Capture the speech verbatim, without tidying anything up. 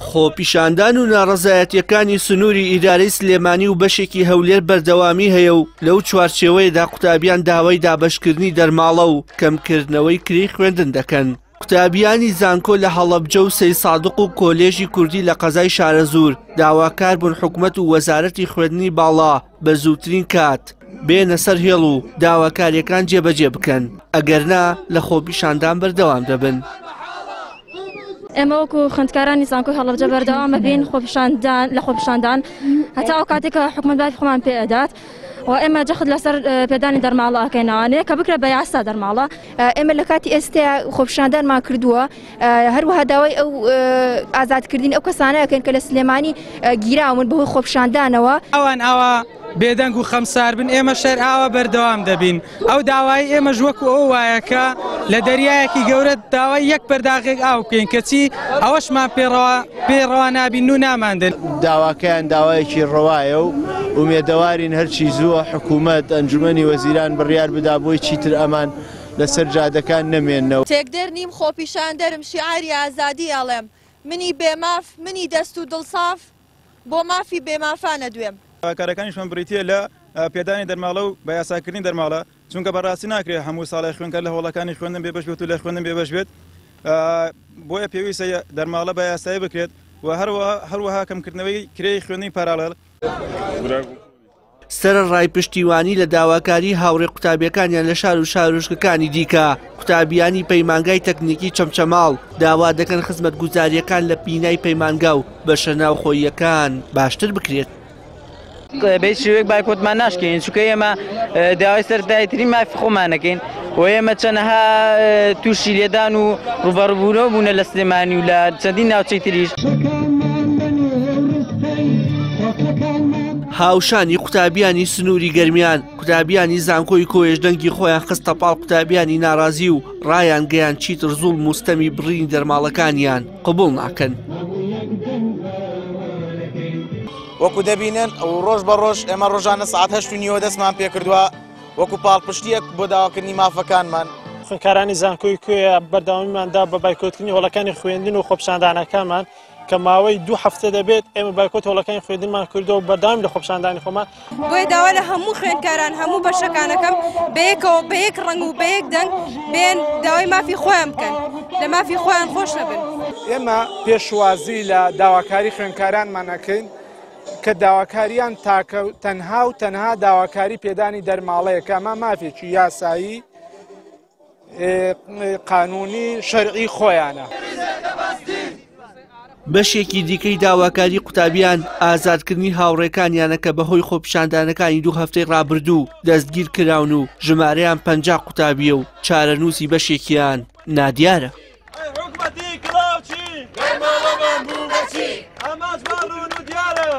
خۆپیشاندان و ناڕەزایەتیەکانی سنووری ئیدارەی سلێمانی و بەشێکی هەولێر بەردەوامی هەیە و لەو چوارچێوەیەدا قوتابیان داوای دابەشکردنی دەرماڵە و کەمکردنەوەی کرێی خوێندن دەکەن. قوتابیانی زانکۆ لە هەڵەبجە و سەیسادق و کۆلێژی کوردی لە قەزای شارەزوور داواکار بوون حکومەت و وەزارەتی خوێندنی باڵا بە زووترین کات بێنە سەر هێڵ و داواکاریەکان جێبەجێ بکەن، ئەگەرنا لە خۆپیشاندان بەردەوام دەبن. ئێمە وەکو خوێندکارانی زانکۆی هەڵەبجە بەردەوام بین خۆپیشاندان لە خۆپیشاندان هەتا ئەو کاتێک کە حکومەت باجی خۆمان پێ ئەدات و ئێمە جەخت لەسەر پێدانی دەرماڵە ئەکەینەوانەیە کە بکرێت بە یاسا دەرماڵە. ئێمە لە کاتی ئێستا خۆپیشاندانمان کردووە، هەروەها داوای ئەو ئازادکردنی ئەو کەسانە ئەکەین کە لە سلێمانی گیراون بەهۆی خۆپیشاندانەوە. ئەوان ئاوا بێدەنگ و خەمسار بن، ئێمە شەر ئاوا بەردەوام دەبین. ئەو داوای ئێمەش وەکو ئەو وایە کە لە دەریایەکی گەورە داوای یەک پەرداغێک ئاو بکەین، کەچی ئەوەشمان پێڕەوا نابین و ناماندن. داواکەیان داوایەکی ڕەوایە و ئومێدەوارین هەرچی زووە حکوومەت ئەنجومەنی وەزیران بڕیار بدا بۆی چیتر ئەمان لەسەر جادەکان نەمێننەوە. تێکدەر نیم، خۆپیشاندەرم، شیعاری ئازادی ئەڵێم، منی بێماف، منی دەست و دڵساف، بۆ مافی بێمافانە دوێم. کارەکانیشمان بریتیە لە پێدانی دەرماڵە و بە یاساکردنی دەرماڵە، چونکە بەڕاستی ناکرێت هەموو ساڵی خوێندکار لە هۆڵەکانی خوێندن بێبەش بێت و لە خوێندن بێبەش بێت، بۆیە پێویستە دەرماڵە بە یاسایی بکرێت و هەروەها کەمکردنەوەی کرێی خوێندنی پاراڵێل. سەرەڕای پشتیوانی لە داواکاری هاوڕێ قوتابیەکانیان لە شار و شارۆچکەکانی دیکە، قوتابیانی پەیمانگای تەکنیکی چەمچەماڵ داوا دەکەن خزمەتگوزاریەکان لە بینای پەیمانگا و بەشە ناوخۆییەکان باشتر بکرێت. بە هیچ شێوەیەک بایکۆتمان ناشکێنین، چونکە ئێمە داوای سەرەتاییترین مافی خۆمان نەکەین و ئێمە چەنەها تووشی لێدان و ڕووبەڕووبوونەوە بوونە لە سلێمانی و لە چەندین ناوچەی تریش. هاوشانی قوتابیانی سنووری گەرمیان، قوتابیانی زانکۆی کۆیش دەنگی خۆیان خستە پاڵ قوتابیانی ناڕازی و ڕایان گەیان چیتر زوڵم و ستەمی بڕینی دەرماڵەکانیان قبوڵ ناکەن. وەکو دەبینن ڕۆژ بە ڕۆژ ئێمە ڕۆژانە سەعات هەشت و نیوە دەستمان پێکردووە وەکو پاڵپشتیەک بۆ داواکردنی مافەکانمان. خوێندکارانی زانکۆی کۆیە بەردەوامیماندا بە بایکۆتکردنی هۆڵەکانی خوێندن و خۆپیشاندانەکانمان کە ماوەی دوو هەفتە دەبێت ئێمە بایکۆت هۆڵەکانی خوێندنمان کردەوە و بەردەوامی لە خۆپیشاندانی خۆمان. بۆیە داوا لە هەموو خوێندکاران هەموو بەشەکانەکەم بەیەکەوە بە یەک ڕەنگ و بە یەک دەنگ بێن داوای مافی خۆیان بکەن، لە مافی خۆیان خۆش نەبن. ئێمە پێشوازی لە داواکاری خوێندکارانمان ئەکەین کە داواکاریان تاکە تەنها و تەنها داواکاری پێدانی دەرماڵەیە کە ئەمە مافێکی یاسایی قانونی شەرعی خۆیانە. بەشێکی دیکەی داواکاری قوتابیان ئازادکردنی هاوڕێکانیانە کە بەهۆی خۆپیشاندانەکانی دوو هەفتەی ڕابردوو دەستگیر کراون و ژمارەیان پەنجا قوتابیە و چارەنووسی بەشێکیان نادیارە. ئامانجمان ڕوون و دیارە.